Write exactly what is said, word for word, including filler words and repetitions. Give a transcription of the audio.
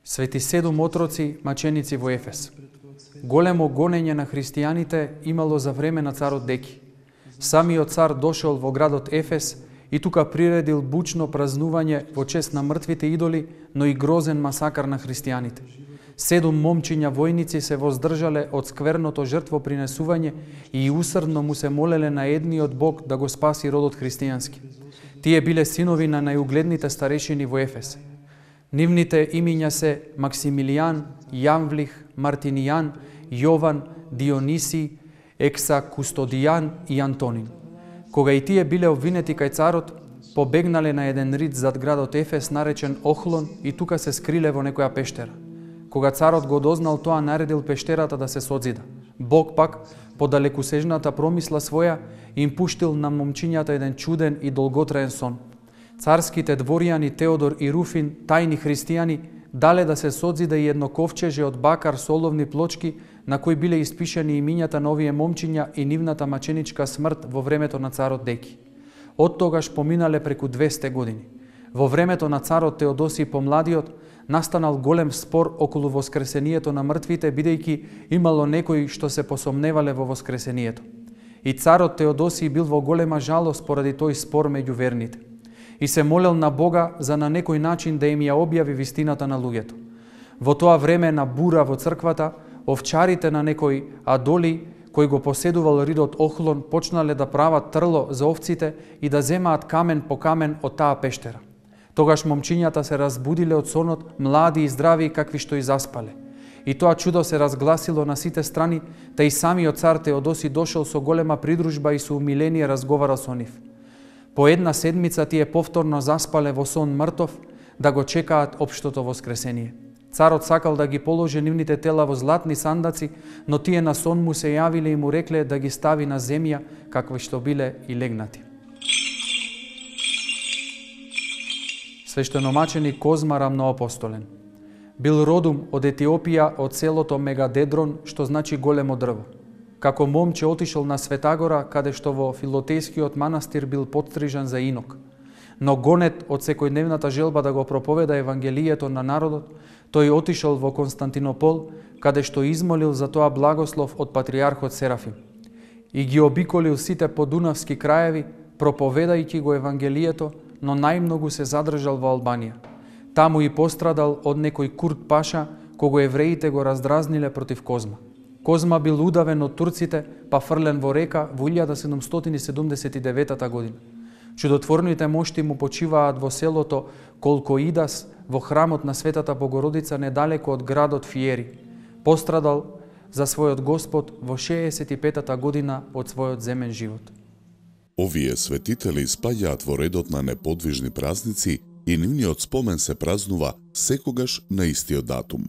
Свети седум отроци, маченици во Ефес. Големо гонење на христијаните имало за време на царот Деки. Самиот цар дошол во градот Ефес и тука приредил бучно празнување во чест на мртвите идоли, но и грозен масакар на христијаните. Седум момчиња војници се воздржале од скверното жртвопринесување и усрдно му се молеле на едниот Бог да го спаси родот христијански. Тие биле синови на најугледните старешини во Ефес. Нивните имиња се Максимилијан, Јанвлих, Мартинијан, Јован, Диониси, Ексакустодијан и Антонин. Кога и тие биле обвинети кај царот, побегнале на еден рид зад градот Ефес наречен Охлон и тука се скриле во некоја пештера. Кога царот го дознал тоа, наредил пештерата да се созида. Бог пак, по далекусежната промисла своја, им пуштил на момчињата еден чуден и долготраен сон. Царските дворјани Теодор и Руфин, тајни христијани, дале да се созида и едно ковчеже од бакар со оловни плочки на кои биле испишани имињата на овие момчиња и нивната маченичка смрт во времето на царот Деки. Од тогаш поминале преку двесте години. Во времето на царот Теодосиј Помладиот настанал голем спор околу воскресението на мртвите, бидејќи имало некои што се посомневале во воскресението. И царот Теодосиј бил во голема жалост поради тој спор меѓу верните. И се молел на Бога за на некој начин да им ја објави вистината на луѓето. Во тоа време на бура во црквата, овчарите на некој Адоли, кој го поседувал ридот Охлон, почнале да прават трло за овците и да земаат камен по камен од таа пештера. Тогаш момчињата се разбудиле од сонот, млади и здрави какви што и заспале. И тоа чудо се разгласило на сите страни, та и самиот цар Теодоси дошол со голема придружба и со умиление разговара со нив. По една седмица тие повторно заспале во сон мртов, да го чекаат општото воскресение. Царот сакал да ги положи нивните тела во златни сандаци, но тие на сон му се јавиле и му рекле да ги стави на земја, какви што биле и легнати. Свештеномаченик Козма Рамноапостолен. Бил родум од Етиопија, од селото Мегадедрон, што значи големо дрво. Како момче отишол на Светагора, каде што во Филотејскиот манастир бил подстрижан за инок. Но гонет од секојдневната желба да го проповеда Евангелието на народот, тој отишол во Константинопол, каде што измолил за тоа благослов од патриархот Серафим. И ги обиколил сите подунавски краеви, проповедајќи го Евангелието, но најмногу се задржал во Албанија. Таму и пострадал од некој Курт Паша, кого евреите го раздразниле против Козма. Козма бил удавен од турците, па фрлен во река во илјада седумстотини седумдесет и девета година. Чудотворните мошти му почиваат во селото Колкоидас, во храмот на Светата Богородица недалеко од градот Фиери. Пострадал за својот Господ во шеесет и петата година од својот земен живот. Овие светители спаѓаат во редот на неподвижни празници и нивниот спомен се празнува секогаш на истиот датум.